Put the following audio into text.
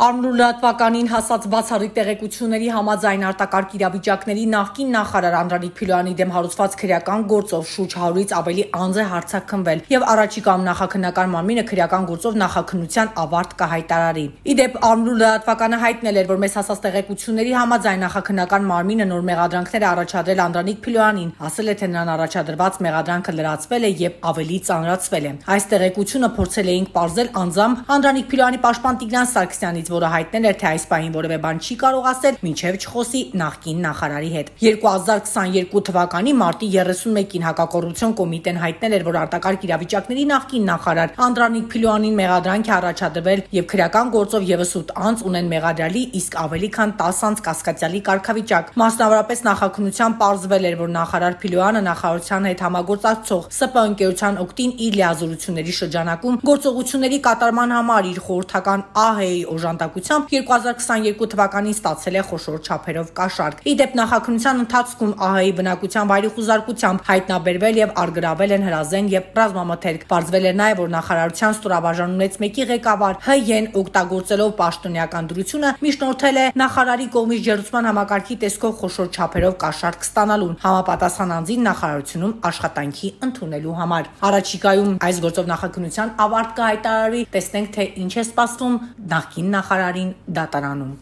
Ամռուլատվականին հասած բացառիկ տեղեկությունների համաձայն արտակարգ իրավիճակների նախկին նախարար Անդրանիկ Փիլոյանի դեմ հարուցված քրեական գործով շուրջ 100-ից ավելի անձ է հարձակվել եւ առաջիկայում նախաքննական մարմինը քրեական գործով նախաքննության ավարտ կհայտարարի։ Իդեպ Ամռուլատվականը հայտնել էր, որ մեզ հասած տեղեկությունների համաձայն նախաքննական մարմինը նոր մեղադրանքներ է առաջադրել Անդրանիկ Փիլոյանին, ասել է, թե նրան առաջադրված մեղադրանքը լրացվել է եւ ավելի ծանրացվել է։ Այս տեղեկությունը փորձել էինք պարզել անձամբ Անդրանիկ Փիլոյանի պաշտպան Տիգրան Սարգսյանից, որը հայտնել էր, թե այս պահին որևէ բան չի կարող ասել, մինչև չխոսի նախկին նախարարի հետ։ 2022 թվականի մարտի 31-ին Հակակոռուպցիոն կոմիտեն հայտնել էր, որ արտակարգ իրավիճակների նախկին նախարար Անդրանիկ Փիլոյանին մեղադրանք է առաջադրվել եւ քրեական գործով եւս 8 անձ ունեն մեղադրյալի, իսկ ավելի քան 10 անձ կասկածյալի կարգավիճակ։ Մասնավորապես նախաքննության պարզվել էր, որ նախարար Փիլոյանը նախարարության հետ համագործակցող ՍՊ ընկերության օգտին իր լիազորությունների շրջանակում գործողությունների կատարման համար իր խորհրդական ԱՀ-ի օժանդակությամբ 2022 թվականին ստացել է խոշոր չափերով կաշառք։ Իդեպ նախաքննության ընթացքում ԱՀ-ի բնակության վայրի խուզարկությամբ հայտնաբերվել եւ արգրավել են հրազեն եւ ռազմամթերք։ Պարզվել էր նաեւ, որ նախարարության ստորաբաժանումից մեկի ղեկավար ՀՅ-ն օգտագործելով պաշտոնեական դրությունը միջնորդել է նախարարի կողմից ջեռուցման համակարգի տեսքով խոշոր չափերով կաշառք ստանալուն համապատասխան անձին նախարարությունում աշխատանքի ընդունելու համար։ Առաջիկայում այս գործով նախաքննության ավարտ կհայտարարվի, տեսնենք, թե ինչ է սպասվում նախկին նախարարին դատարանում։